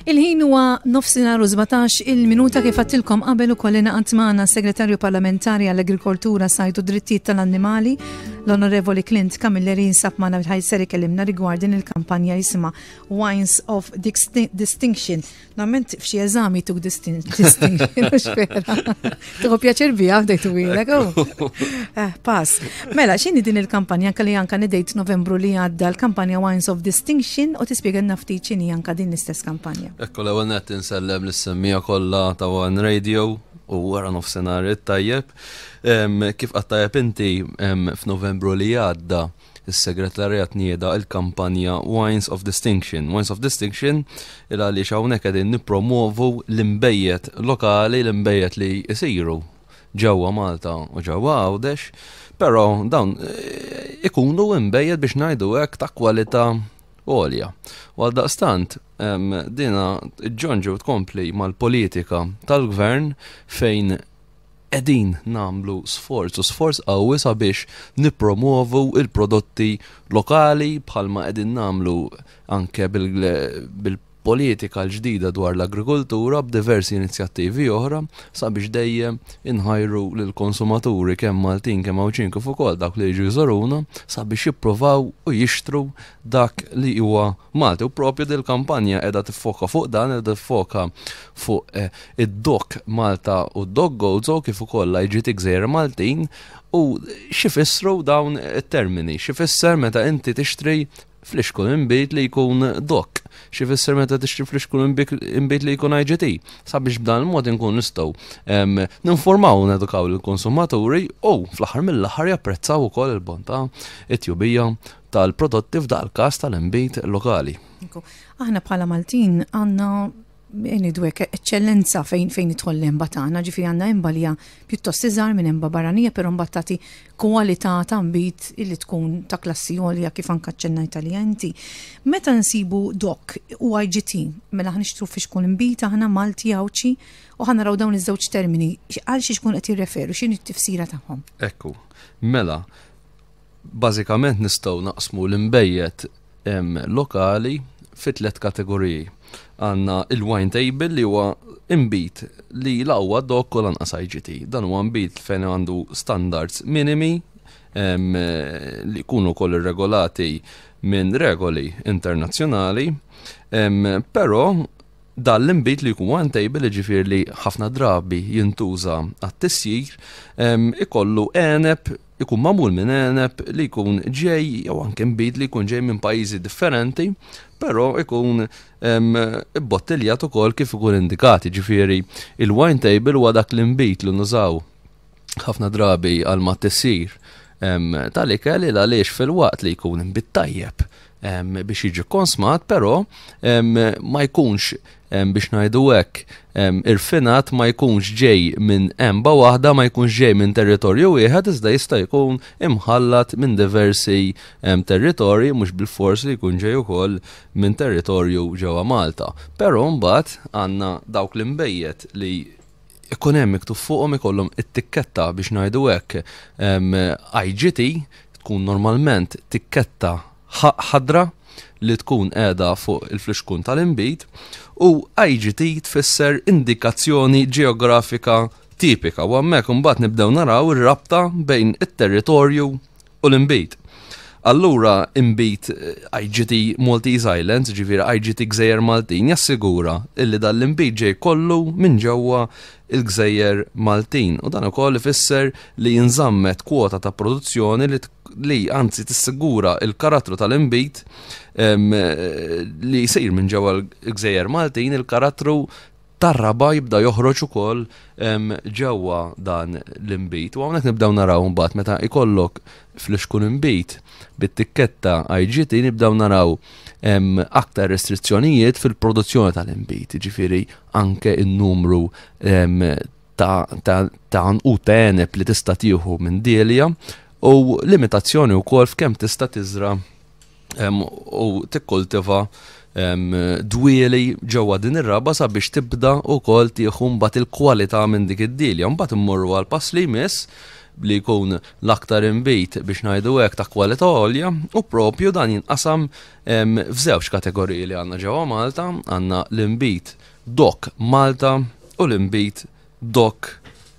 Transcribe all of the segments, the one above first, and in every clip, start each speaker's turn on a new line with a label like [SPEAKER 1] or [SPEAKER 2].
[SPEAKER 1] Il-ħin huwa nofsinhar u 17 il-minuta kif għattilkom qabel ukoll ingħaqad magħna s-Segretarju Parlamentari għall-Agrikoltura, Sajd u Drittijiet tal-Annimali, l-Onorevoli Clint Camilleri jinsab magħna ħajser ikellimna rigward din il-kampanja jisimha Wines of Distinction. Normalment f'xi eżami tuk distinction, mhux vera. Tieħu pjaċir biha bdejtu ilek. Oh. Eh, pass. Mela, x'inhi din il-kampanja anke li anke nidejt Novembru li għadda l-kampanja Wines of Distinction u tispjegalna ftit x'inhi anke din l-istess kampanja.
[SPEAKER 2] Ekku l-ewwel nett insellem lis-semmija kollha ta' One Radio u wara nofsinhar it-tajjeb. Kif qatt tajjeb inti f'Novembru li għadda is-Segretarjat nieda l-kampanja Wines of Distinction. Wines of Distinction il għaliex hawnhekk qegħdin nippromovu l-inbejjed lokali, l-inbejjed li jsiru ġewwa Malta u ġewwa Għawdex, però dawn eh, ikunu inbejjed biex ngħidu hekk ta' kwalità għolja. U għaldaqstant dina ġonġu tkompli mal-politika tal-gvern fejn qegħdin nagħmlu sforz u sforz qawwi sabiex nippromovu il-prodotti lokali bħalma qegħdin nagħmlu anke bil-politika l-ġdida dwar l-agrikoltura b'diversi inizjattivi oħra sabiex dejjem inħajru lill-konsumaturi kemm Maltin kemm Għawdxin kif ukoll dawk li jiġu jżuruna sabiex jippruvaw u jixtru dak li huwa Malti. U propju dil-kampanja qiegħda tiffoka fuq dan, qiegħda tiffoka fuq eh, id-DOC Malta u d-DOC Gozo kif ukoll l-IGT Gżejjer Maltin u x'ifissru dawn it-termini, x'ifisser meta inti tixtri flixkun inbid li jkun DOC, x'ifisser meta tixtri flixkun inbid li jkun IGT, sabiex b'dan il-mod inkun nistgħu ninformaw u nedukaw lill-konsumaturi u fl-aħħar mill-aħħar japprezzaw ukoll il-bontà, it-tjubija tal-prodotti f'dal-każ tal-inbid lokali.
[SPEAKER 1] Aħna bħala Maltin għandna ngħidu hekk eċċellenza fejn fejn idħol l-emba tagħna, ġifieri għandna emba li hija pjuttost iżgħar minn emba barranija, però mbagħad tagħti kwalità ta' nbid illi tkun ta' klassi għolja kif anke aċċennajt għaliha inti. Meta nsibu DOC u IGT, mela ħa nixtru flixkun inbid aħna Malti Għawdxi u ħa naraw dawn iż-żewġ termini għal xiex ikun qed jirreferu, x'inhi t-tifsira tagħhom.
[SPEAKER 2] Ekku, mela, Bażikament nistgħu naqsmu l-inbejjed lokali fi tliet kategoriji. Għandna il-wine table li huwa inbid li la huwa DOC u lanqas IGT. Dan huwa nbid fejn għandu standards minimi li jkunu wkoll irregolati minn regoli internazzjonali, però dan l-inbid li jkun wine table, jiġifieri li ħafna drabi jintuża għat-tisjir, ikollu għeneb ikun magħmul minn għeneb li jkun ġej jew anke nbid li jkun ġej minn pajjiżi differenti, però ikun ibbottiljat ukoll kif ikun indikat. Ġifieri il-wine table huwa dak l-inbid li nużaw ħafna drabi għal ma tissir tal-ikel il għaliex fil-waqt li jkun inbid tajjeb biex jiġi konsmat, però ma jkunx biex ngħidu hekk irfinat ma jkunx ġej minn emba waħda, ma jkunx ġej minn territorju wieħed, iżda jista' jkun imħallat minn diversi territorji, mhux bil-fors li jkun ġej ukoll minn territorju ġewwa Malta. Però mbagħad għandna dawk l-inbejjed li ikun hemm miktub fuqhom ikollhom it-tikketta biex ngħidu hekk IGT tkun normalment tikketta ħadra li tkun qiegħda fuq il-flixkun tal-inbid u IGT tfisser indikazzjoni ġeografika tipika u hemmhekk imbagħad nibdew naraw ir-rabta bejn it-territorju u l-inbid. Allura inbid IGT Maltese Islands, ġifieri IGT Gżejjer Maltin, jassigura illi dan l-inbid ġej kollu minn ġewwa il-Gżejjer Maltin. U dan ukoll ifisser li jinżammet kwota ta' produzzjoni li li anzi tissigura il-karattru tal-inbid li jsir minn ġewwa l-Gżejjer Maltin, il-karattru tar-raba' jibda joħroġ ukoll ġewwa dan l-inbid. U hawnhekk nibdew naraw imbagħad meta ikollok flixkun inbid bit-tikketta IGT nibdew naraw aktar restrizzjonijiet fil-produzzjoni tal-inbid, jiġifieri anke n-numru ta' ta' għanqud ta' għeneb li tista' tieħu minn dielja u limitazzjoni wkoll f'kemm tista' tiżra' u tikkultiva dwieli ġewwa din ir-raba sabiex tibda wkoll tieħu mbagħad il-kwalità minn dik id-dielja. Mbagħad immorru għal pass li jmiss. li jkun l-aktar inbid biex ngħidu hekk ta' kwalità għolja u propju dan jinqasam f'żewġ kategoriji li għandna ġewwa Malta, għandna l-inbid DOC Malta u l-inbid DOC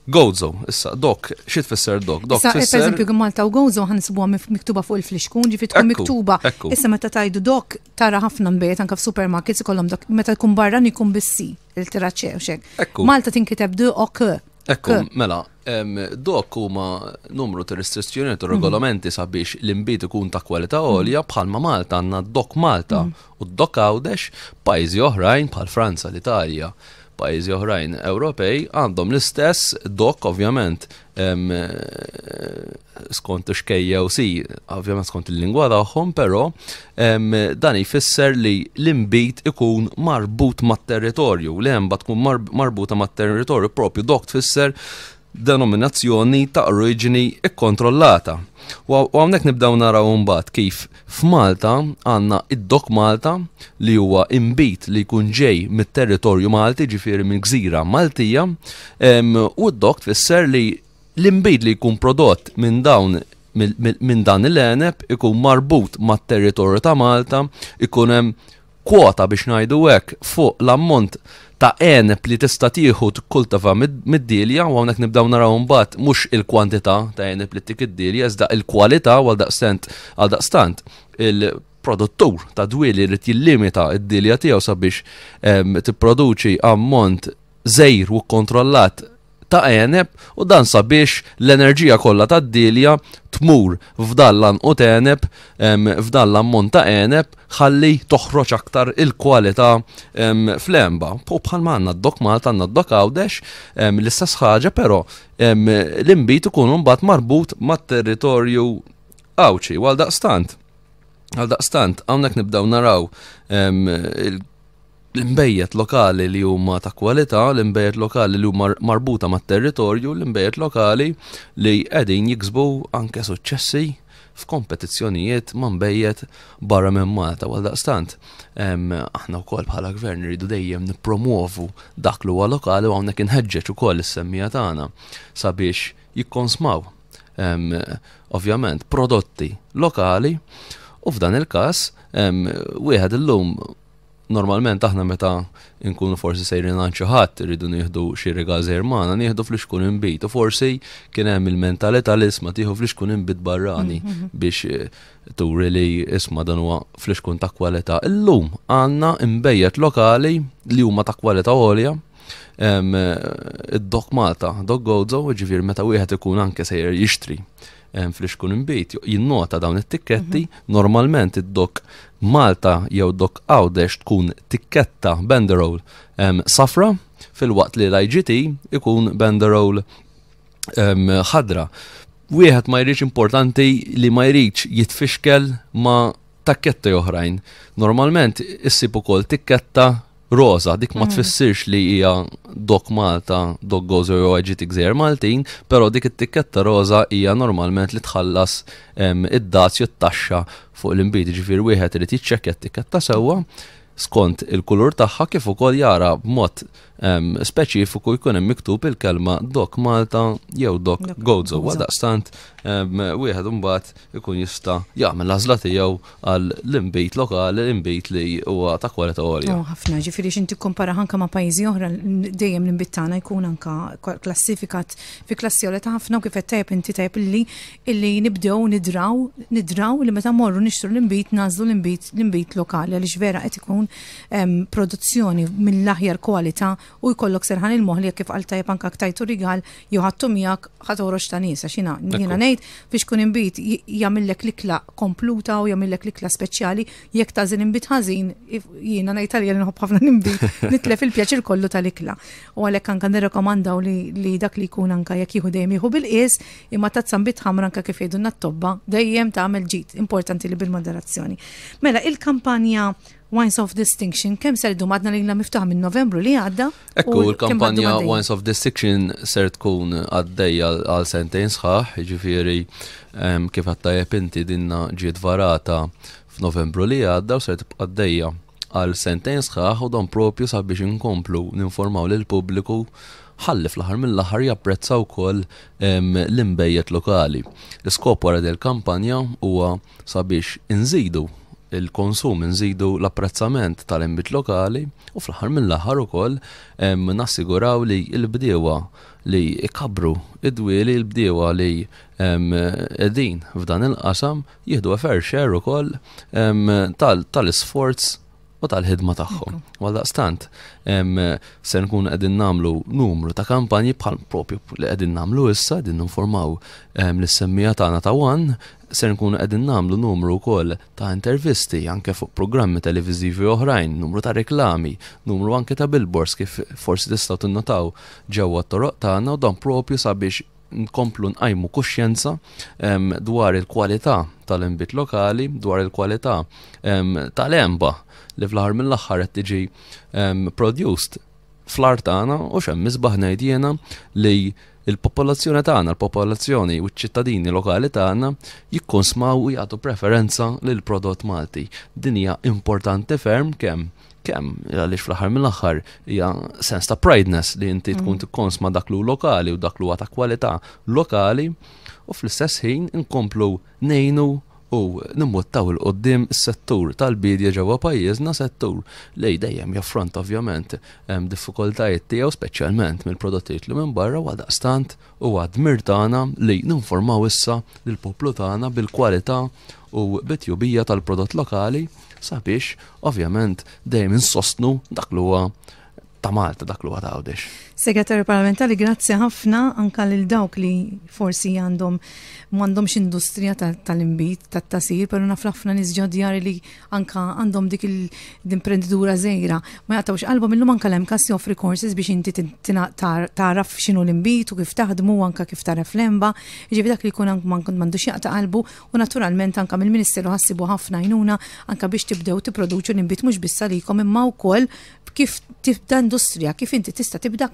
[SPEAKER 2] Gozo. Issa, DOC, xi tfisser DOC?
[SPEAKER 1] DOC tfisser. Per eżempju, Malta u Gozo ħansibuha miktuba fuq il-flixkun, ġifi tkun miktuba. Issa meta tajdu DOC tara ħafna nbejjed anke f'supermarkets ikollhom DOC, meta jkun barran jkun bissi il-tiraċċe u xek. Malta tinkiteb D O K.
[SPEAKER 2] Ekku, mela, dok huma numru ta' restrizzjonijiet u regolamenti sabiex l-inbid ikun ta' kwalità għolja bħalma Malta għandna DOC Malta u DOC Għawdex, pajjiżi oħrajn bħal Franza, l-Italja, pajjiżi oħrajn Ewropej għandhom l-istess DOC ovvjament skont xkejja u si, ovvjament skont il-lingwa tagħhom, però dan jfisser li l-inbid ikun marbut mat-territorju, l-għenba tkun marbuta mat-territorju propju dok tfisser denominazzjoni ta' oriġini ikkontrollata. U hawnhekk nibdew naraw imbagħad kif f'Malta għandna id-DOC Malta li huwa inbid li jkun ġej mit-territorju Malti, ġifieri minn gżira Maltija, u d-DOC tfisser li L-inbid li jkun prodott minn dawn minn dan il-għeneb ikun marbut mat-territorju ta' Malta, ikun hemm kwota biex ngħidu hekk fuq l-ammont ta' għeneb li tista' tieħu tikkultiva mid-dielja u hawnhekk nibdew naraw imbagħad mhux il-kwantità ta' għeneb li ttik id-dielja iżda il-kwalità u għaldaqstant għaldaqstant il-produttur ta' dwieli jrid jillimita d-dielja tiegħu sabiex tipproduċi ammont żgħir u kkontrollat ta' għeneb u dan sabiex l-enerġija kollha tad-dielja tmur f'dan l-għanqud għeneb, f'dan l-ammont ta' għeneb ħalli toħroġ aktar il-kwalità fl-għenba. U bħalma għandna d-DOC Malta, għandna d-DOC Għawdex, l-istess ħaġa però l-inbid ikun imbagħad marbut mat-territorju Għawdxi. U għaldaqstant, għaldaqstant hawnhekk nibdew naraw l-inbejjed lokali li huma ta' kwalità, l-inbejjed lokali li huma marbuta mat-territorju, l-inbejjed lokali li qegħdin jiksbu anke suċċessi f'kompetizzjonijiet ma' nbejjed barra minn Malta. Għaldaqstant, aħna wkoll bħala gvern rridu dejjem nippromuovu dak li huwa lokali u hawnhekk inħeġġeġ ukoll is-semmija tagħna sabiex jikkonsmaw ovvjament prodotti lokali u f'dan il-każ wieħed illum Normalment aħna meta nkunu forsi sejrin għand xi ħadd irridu nieħdu xi rigal żgħir magħna, nieħdu flixkun inbid u forsi kien hemm il-mentalità li isma' tieħu flixkun inbid barrani mm, mm, mm. biex eh, turi li isma' dan huwa flixkun ta' kwalità. Illum għandna imbejjed lokali li huma ta' kwalità għolja eh, id-Dok Malta, Dok Gozo, ġifieri meta wieħed ikun anke sejjer jixtri flixkun inbid, jinnota dawn it-tikketti, mhm. normalment id-DOC Malta jew DOC Għawdex tkun tikketta banderole safra, filwaqt li l-IGT ikun banderole ħadra. Wieħed ma jridx importanti li ma jridx jitfixkel ma' takketti oħrajn. Normalment issib ukoll tikketta roża, dik ma mhm. tfissirx li hija DOC Malta, DOC Gozo jew IGT Gżejjer Maltin, però dik it-tikketta roża hija normalment li tħallas id-dazju t-taxxa fuq l-inbid, ġifier wieħed irid jiċċekkja t-tikketta sewwa skont il-kulur tagħha kif ukoll jara b'mod speċifiku jkun hemm miktub il-kelma DOC Malta jew DOC Gozo. Għaldaqstant wieħed imbagħad ikun jista' jagħmel l-għażla tiegħu għal l-inbid lokali, l-inbid li huwa ta' kwalità għolja.
[SPEAKER 1] Oh, ħafna, ġifieri x'inti tikkumpara anke ma' pajjiżi oħra dejjem l-inbid tagħna jkun anka klassifikat fi klassi għolja ta' ħafna u kif qed tajjeb inti tajjeb illi illi nibdew nidraw nidraw li meta morru nixtru l-inbid nagħżlu l-inbid l-inbid lokali għaliex vera qed ikun produzzjoni mill-aħjar kwalità u jkollok serħan il-moħħ li kif qal tajjeb anke tajtu rigal jew ħadtu miegħek ħa toħroġ ta' nies għax jiena jiena ngħid biex kun inbid jagħmillek l-ikla kompluta u jagħmillek l-ikla speċjali jekk tagħżel inbid ħażin jiena ngħid għalija li nħobb ħafna l-inbid nitlef il-pjaċir kollu tal-ikla. U għalhekk anke nirrekomandaw li, li dak li jkun anke jekk jieħu dejjem jieħu bil-qies imma tazza nbid ħamra anke kif jgħidulna t-tobba dejjem tagħmel ġid, importanti li bil-moderazzjoni. Mela il-kampanja Wines of Distinction, kemm ser idum għadna lilna miftuħa minn Novembru li għadda?
[SPEAKER 2] Ekku, l-kampanja Wines of Distinction ser tkun għaddejja għal sentejn sħaħ, ġifieri kif għattajjeb inti dinna ġiet varata f'Novembru li għadda u ser tibqa' għaddejja għal sentejn sħaħ u dan propju sabiex inkomplu ninformaw lill-pubbliku. ħalli fl-aħħar mill-aħħar japprezza wkoll l-inbejjed lokali. L-iskop wara din il-kampanja huwa sabiex inżidu il-konsum, inżidu l-apprezzament tal-inbid lokali u fl-aħħar mill-aħħar ukoll nassiguraw li l-bdiewa li ikabbru id-dwieli, l-bdiewa li qegħdin f'dan il-qasam jieħdu a fair share ukoll tal-isforz u tal-ħidma tagħhom. Għaldaqstant, se nkun qegħdin nagħmlu numru ta' kampanji bħal propju li qegħdin nagħmlu issa, qegħdin ninformaw lis-semmiegħa tagħna ta' One, se nkunu qegħdin nagħmlu numru wkoll ta' intervisti anke fuq programmi televiżivi oħrajn, numru ta' reklami, numru anke ta' billboards kif forsi tistgħu tinnotaw ġewwa t-toroq tagħna u dan propju sabiex nkomplu nqajmu kuxjenza dwar il-kwalità tal-inbid lokali, dwar il-kwalità tal-għenba li fl-aħħar mill-aħħar qed tiġi produced fl-art tagħna u x'hemm isbaħ ngħid jiena li il-popolazzjoni tagħna, l-popolazzjoni u ċ-ċittadini lokali tagħna jikkonsmaw u jagħtu preferenza lil prodott Malti. Din hija importanti ferm kemm kemm għaliex fl-aħħar mill-aħħar hija sens ta' prideness li inti tkun tikkonsma dak lu lokali u dak lu ta' kwalità lokali u fl-istess ħin inkomplu ngħinu u nimbuttaw 'il quddiem is-settur tal-biedja ġewwa pajjiżna, settur li dejjem jaffronta ovvjament diffikultajiet tiegħu speċjalment mill-prodotti li jidħlu minn barra u għaldaqstant huwa dmir tagħna li ninformaw issa lill-poplu tagħna bil-kwalità u bit-tjubija tal-prodott lokali sabiex ovvjament dejjem insostnu dak li huwa ta' Malta, dak li huwa ta' Għawdex.
[SPEAKER 1] Segretarju Parlamentari, grazzi ħafna anka lil dawk li forsi għandhom m'għandhomx industrija tal-inbid, tat-tasir, però naf ħafna nies ġo djar li anka għandhom dik l-imprenditura żgħira. Ma jaqtgħux qalbhom illum anka l-MCAS joffri courses biex inti tagħraf x'inhu l-inbid u kif taħdmu anka kif tagħraf l-għenba. Jiġifieri dak li jkun m'għandux jaqta' qalbu U naturalment anka mill-Ministeru ħassibu ħafna għajnuna anka biex tibdew tipproduċu l-inbid mhux biss għalikom imma wkoll kif tibda industrija, kif inti tista' tibda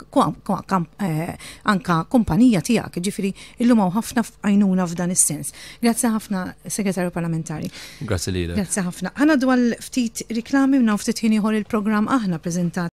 [SPEAKER 1] eh, anka kumpanija tiegħek, ġifieri illum hawn ħafna għajnuna f'dan is-sens. Grazzi ħafna, Segretarju Parlamentari.
[SPEAKER 2] Grazzi lilek.
[SPEAKER 1] Grazzi ħafna. Ħana dwar ftit riklami u ftit ħin ieħor il-programm aħna preżentat.